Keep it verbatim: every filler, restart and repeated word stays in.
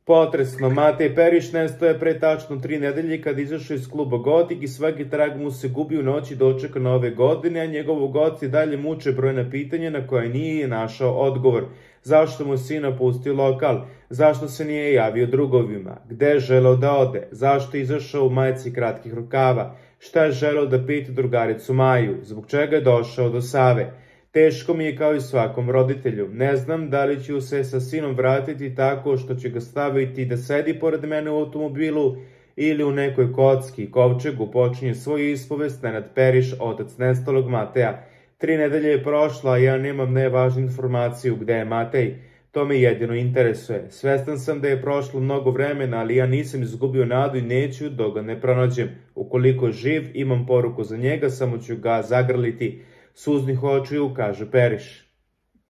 Potresno, Matej Periš nestoje pre tačno tri nedelje kad izašao iz kluba Gotik i svaki trag mu se gubi u noći dočeka nove godine, a njegovog oca i dalje muče brojna pitanja na koje nije našao odgovor. Zašto mu sin napustio lokal? Zašto se nije javio drugovima? Gde je želeo da ode? Zašto je izašao u majici kratkih rukava? Šta je želeo da pita drugaricu Maju? Zbog čega je došao do Save? Teško mi je kao i svakom roditelju. Ne znam da li ću se sa sinom vratiti tako što ću ga staviti da sedi pored mene u automobilu ili u nekoj kocki. Kovčegu počinje svoju ispovest Nenad Periš, otac nestalog Mateja. Tri nedelje je prošla, a ja nemam najvažniju informaciju gde je Matej. To me jedino interesuje. Svestan sam da je prošlo mnogo vremena, ali ja nisam izgubio nadu i neću dok ga ne pronađem. Ukoliko je živ, imam poruku za njega, samo ću ga zagrliti. Suznih očiju, kaže Periš.